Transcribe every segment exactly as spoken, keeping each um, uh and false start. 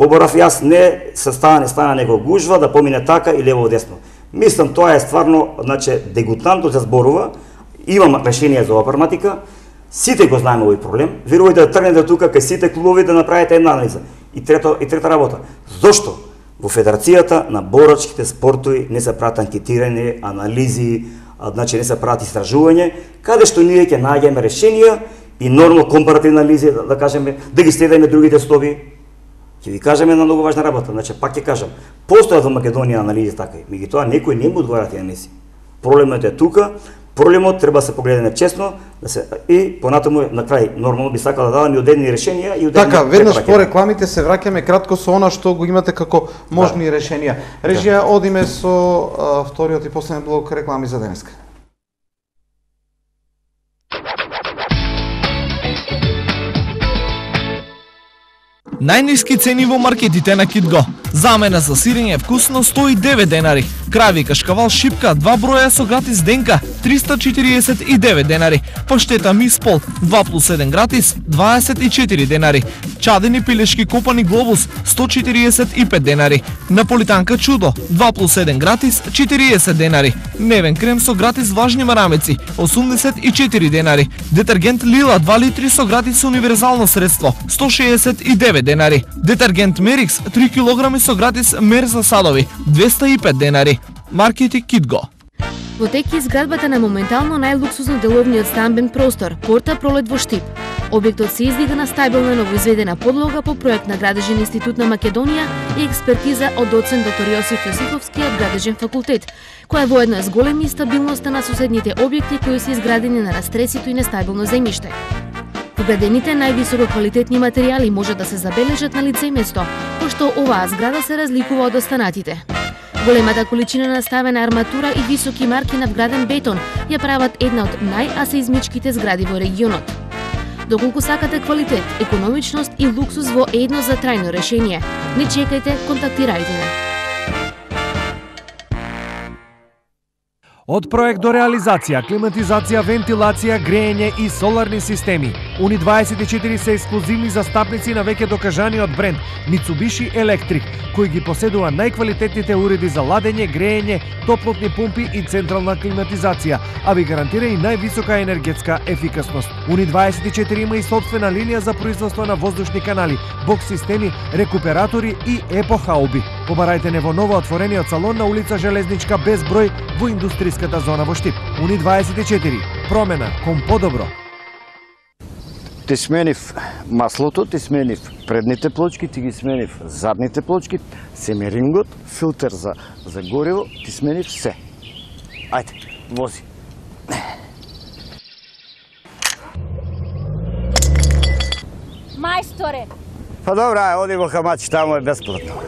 Поборав јас не се стана, не стана него гужва да помине така и лево десно. Мислам тоа е стварно, значи дегутантно се зборува. Имам решение за оваа проблематика. Сите го знаеме овој проблем. Верувајте да тргнете тука кај сите клубови да направите една анализа. И трета и трета работа. Зошто во Федерацијата на борачките спортови не се прават анкетирање, анализи, значи не се прават истражување, каде што ние ќе најдеме решенија и нормално компаративни анализи, да, да кажеме, да ги следиме другите стови. Ќе ви кажеме една многу важна работа, значи пак ќе кажам, постојат во Македонија анализи така, меѓутоа некои не му одговараат тие анализи. Проблемот е тука, проблемот треба да се погледне честно, да се и понатаму на крај нормално би сакал да дадам и одедни решенија и одедни. Така, веднаш по рекламите се враќаме кратко со она што го имате како можни да. решенија. Режија, одиме со а, вториот и последен блок реклами за денеска. Најниски цени во маркетите на Китго. Замена за сирење вкусно сто и девет денари. Крави кашкавал шипка два броја со гратис денка триста четириесет и девет денари. Паштета миспол два плюс еден гратис дваесет и четири денари. Чадени пилешки копани глобус сто четириесет и пет денари. Наполитанка чудо два плюс еден гратис четириесет денари. Невен крем со гратис влажни марамеци осумдесет и четири денари. Детергент Лила два литри со гратис универзално средство сто шеесет и девет денари. Детергент Мерикс три килограми со гратис мер за садови двеста и пет денари. Маркети Китго. Во тек е изградбата на моментално најлуксузно деловниот стамбен простор Порта Пролет во Штип. Објектот се издига на стабилна новоизведена подлога по проект на Градежен институт на Македонија и експертиза од доцент доктор Јосиф Јосифовски од Градежен факултет, која воедно е зголеми стабилноста на соседните објекти кои се изградени на растресито и нестабилно земјиште. Вградените највисоко квалитетни материјали може да се забележат на лице место, пошто оваа зграда се разликува од останатите. Големата количина наставена арматура и високи марки на вграден бетон ја прават една од најасеизмичките згради во регионот. Доколку сакате квалитет, економичност и луксус во едно за трајно решение, не чекајте, контактирајте не. Од проект до реализација, климатизација, вентилација, грејење и соларни системи. Уни дваесет и четири се ексклузивни застапници на веќе докажаниот бренд Mitsubishi Electric, кои ги поседува најквалитетните уреди за ладење, грејење, топлотни пумпи и централна климатизација, а ви гарантира и највисока енергетска ефикасност. Уни дваесет и четири има и собствена линија за производство на воздушни канали, бокс системи, рекуператори и епохауби. Побарајте не во ново отворениот салон на улица Железничка без број во индустријската зона во Штип. Уни дваесет и четири. Промена кон подобро. Ти сменив маслото, ти сменив предните плочки, ти ги сменив задните плочки, семерингот, филтер за, за гориво, ти сменив се. Ајде, вози. Мајсторе! Па добра, ај, оди во Хамачи, таму е бесплатно.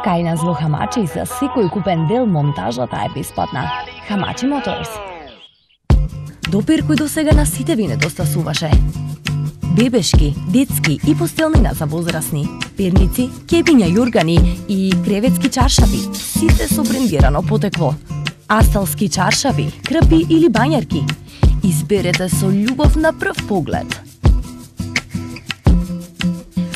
Кај нас во Хамачи за секој купен дел монтажата е бесплатна. Хамачи Моторс. Допир кој досега на сите ви недостасуваше. Бебешки, детски и постелнина за возрастни, перници, кепиња јургани и креветски чаршафи, сите со брендирано потекло. Асталски чаршафи, крпи или бањарки. Изберете со љубов на прв поглед.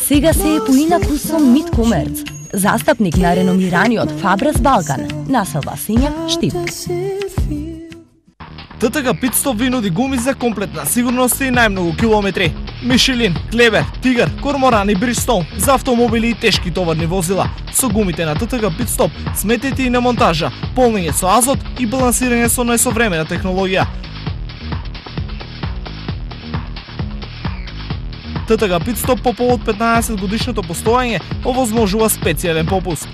Сега се е поинаку со Мидкомерц, застапник на реномираниот Фабрес Балкан, населба Сењак, Штип. ТТГ Питстоп ви нуди гуми за комплетна сигурност и најмногу километри. Мишелин, Клевер, Тигар, Корморан и Бристоун за автомобили и тешки товарни возила. Со гумите на ТТГ Питстоп сметете и на монтажа, полнење со азот и балансирање со најсовремена технологија. ТТГ Питстоп по повод петнаесет годишното постојање овозможува специјален попуст.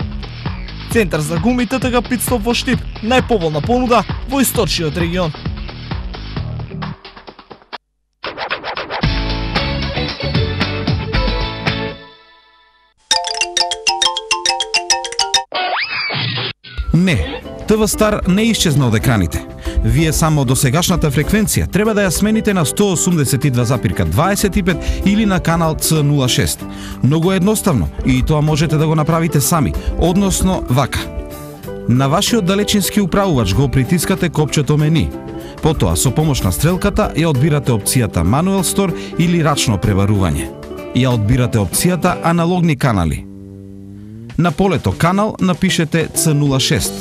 Центар за гуми ТТГ Питстоп во Штип, најповолна понуда во источниот регион. Не, ТВ Стар не исчезна од екраните. Вие само до сегашната фреквенција треба да ја смените на сто осумдесет и два запирка дваесет и пет или на канал Ц нула шест. Многу едноставно и тоа можете да го направите сами, односно вака. На вашиот далечински управувач го притискате копчето мени. Потоа со помош на стрелката ја одбирате опцијата Manual Store или рачно пребарување. ја одбирате опцијата аналогни канали. На полето канал напишете Ц нула шест.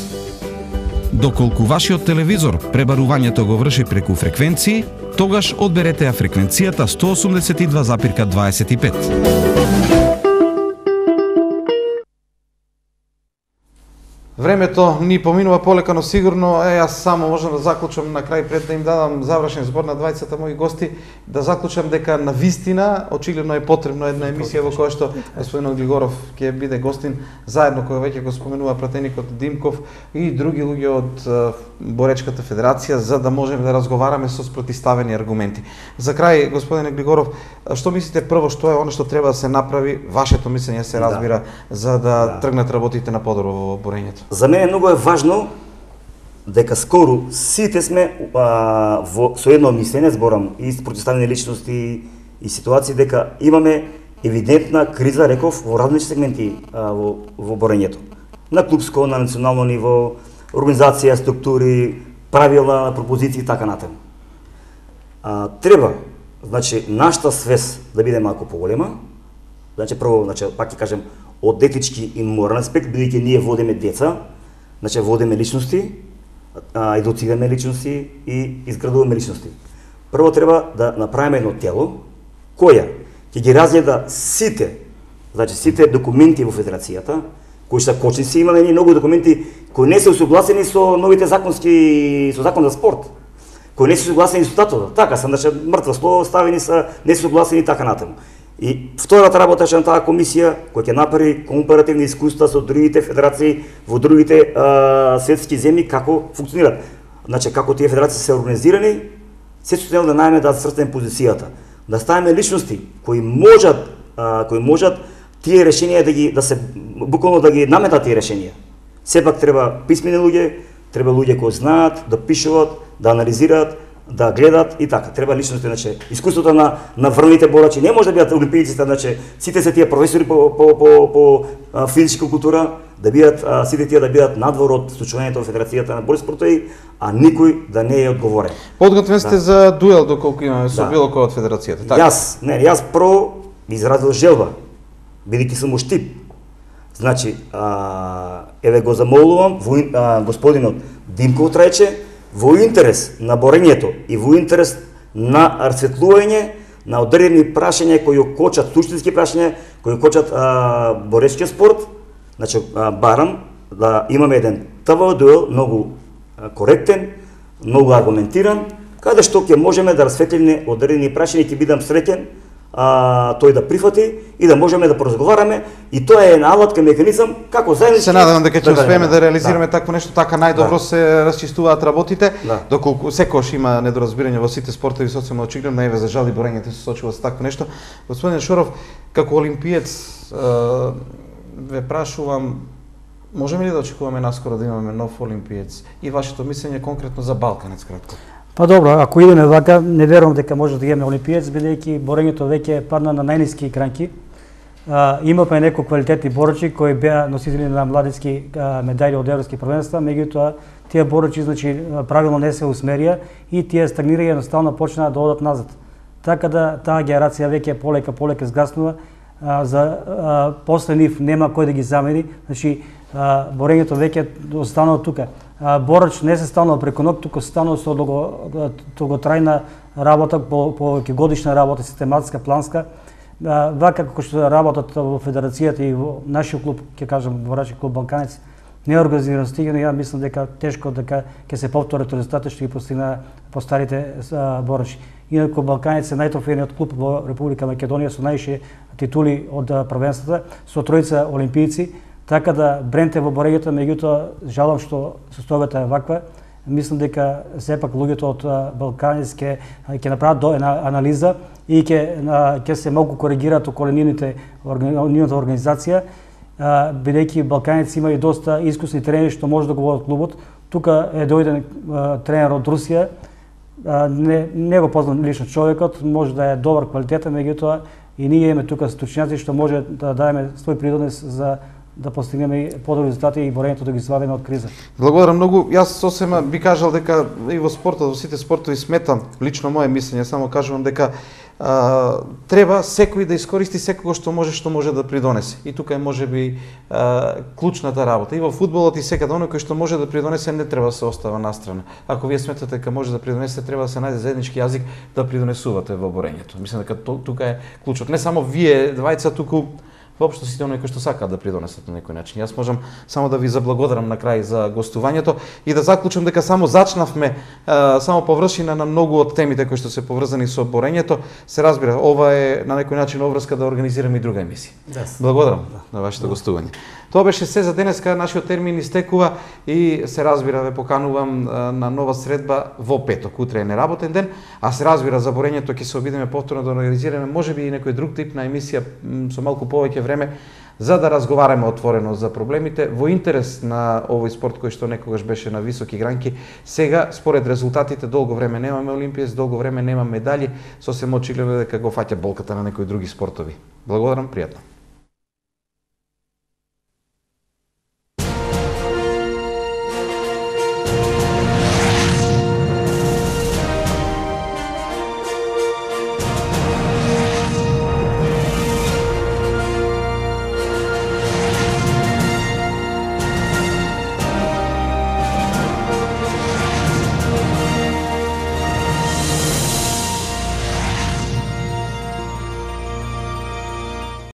Доколку вашиот телевизор пребарувањето го врши преку фреквенции, тогаш одберете ја фреквенцијата сто осумдесет и два запирка дваесет и пет. Времето ни поминува полека, но сигурно е, јас само можам да заклучам на крај пред да им дадам завршен збор на двајцата мои гости, да заклучам дека на вистина очигледно е потребно една емисија во која што господин Глигоров ќе биде гостин, заедно кој веќе го споменува пратеникот Димков и други луѓе од Боречката федерација, за да можеме да разговараме со спротивставени аргументи. За крај, господине Глигоров, што мислите прво што е она што треба да се направи, вашето мислење се разбира, да. за да, да тргнат работите на подобро во борењето? За мене многу е важно дека скоро сите сме а, во со едно мислење, зборам и спротивставени личности и ситуации, дека имаме евидентна криза, реков, во различни сегменти а, во, во борењето. На клубско, на национално ниво, организација, структури, правила, пропозиции и така натаму. А, треба, значи, нашата свест да биде малку поголема. Значи, прво, значи, пак ќе кажем, од етички и морален аспект, бидејќи ние водиме деца, значи водиме личности, а, едуцираме личности и изградуваме личности. Прво треба да направиме едно тело, која ќе ги разгледа сите, значи сите документи во федерацијата, кои се кочници, имаме ние многу документи кои не се усогласени со новите законски, со закон за спорт, кои не се согласени со статутот. Така, са, значи, мртво слово ставени са, не се согласени така натаму. И втората работа на таа комисија, која ќе направи компаративни искуства со другите федерации во другите а, светски земји, како функционират. Значи, како тие федерации се организирани, се состојано да најме да срстеме позицијата, да ставиме личности кои можат, а, кои можат тие решенија да ги да се буквално да ги наметат тие решенија. Сепак треба писмени луѓе, треба луѓе кои знаат да пишуваат, да анализираат, да гледат и така. Треба личности, значи искуството на на врвните борачи не може да бидат олимпијците, значи сите се тие професори по по по, по а, физичка култура, да бидат а, сите тие да бидат надвор од случувањето во Федерацијата на борски спортови, а никој да не е одговорен. Подготвен сте да. за дуел доколку имаме со да. било кој од Федерацијата, така? Јас, не, јас прво изразил желба, бидејќи сум оштип. Значи, а, еве го замолувам во а, господинот Димков Трајче, во интерес на борењето и во интерес на расветлување на одредени прашања кои кочат суштински прашања, кои кочат а, боречкиот спорт, значи а, барам да имаме еден ТВ дуел многу а, коректен, многу аргументиран, каде што ќе можеме да расветлиме одредени прашања и ќе бидам среќен а, тој да прифати и да можеме да поразговараме, и тоа е една алатка, механизам како заеднички. Се надевам дека ќе успееме да реализираме да. такво нешто, така најдобро да. се расчистуваат работите, да. доколку секогаш има недоразбирање во сите спортови, социјално очигледно, еве за жал и борењето се сочува со такво нешто. Господин Шоров, како олимпиец, ве прашувам, можеме ли да очекуваме наскоро да имаме нов олимпиец и вашето мислење конкретно за Балканец кратко? Па добро, ако идеме вака, не верувам дека може да имаме олимпиец, бидејќи борењето веќе падна на најниски кранки. А, имавме некои квалитетни борачи кои беа носители на младински медали од европски првенства, меѓутоа тие борачи, значи, правилно не се усмерија и тие стагнираја, едноставно почнаа да одат назад. Така да таа генерација веќе полека полека згаснува, а, за а, после нив нема кој да ги замени, значи а, борењето веќе останало тука. А, борач не се станува преку ног, туку се станува со долготрајна работа, по, по годишна работа, систематска, планска. А, вака како што работат во федерацијата и во нашиот клуб, ќе кажам, борачки клуб Балканец, не е организиран стигано, ја мислам дека тешко дека ќе се повторат резултати што ги постигна постарите борачи. Инаку Балканец е најтрофејниот клуб во Република Македонија со највише титули од првенствата, со тројца олимпијци, така да бренд е во борењето, меѓутоа жалам што состојбата е ваква. Мислам дека сепак луѓето од Балканец ќе ќе направат до една анализа и ќе ќе се малку коригираат околу нивните нивната организација, бидејќи Балканец има и доста искусни тренери што може да го водат клубот. Тука е дојден тренер од Русија, не не го познам лично човекот, може да е добар квалитетен, меѓутоа и ние имаме тука стручњаци што може да дадеме свој придонес за да постигнеме подобри резултати и борењето да ги извадиме од криза. Благодарам многу. Јас сосема би кажал дека и во спортот, во сите спортови сметам, лично мое мислење, само кажувам дека а, треба секој да искористи секого што може што може да придонесе. И тука е можеби а, клучната работа. И во фудбалот и секаде оној кој што може да придонесе не треба да се остава настрана. Ако вие сметате дека може да придонесете, треба да се најде заеднички јазик да придонесувате во борењето. Мислам дека тука е клучот. Не само вие двајца, туку воопшто сите оние кои што сакаат да придонесат на некој начин. Јас можам само да ви заблагодарам на крај за гостувањето и да заклучам дека само зачнавме а, само површина на многу од темите кои што се поврзани со борењето. Се разбира, ова е на некој начин обврска да организираме и друга емисија. Yes. Благодарам да. на вашето да. гостување. Тоа беше се за денеска, нашиот термин истекува и се разбира ве поканувам а, на нова средба во петок. Утре е неработен ден, а се разбира за борењето ќе се обидеме повторно да организираме можеби и некој друг тип на емисија со малку повеќе време за да разговараме отворено за проблемите во интерес на овој спорт кој што некогаш беше на високи гранки. Сега според резултатите долго време немаме олимпиец, долго време нема медали, сосем очигледно дека го фаќа болката на некои други спортови. Благодарам, пријатно.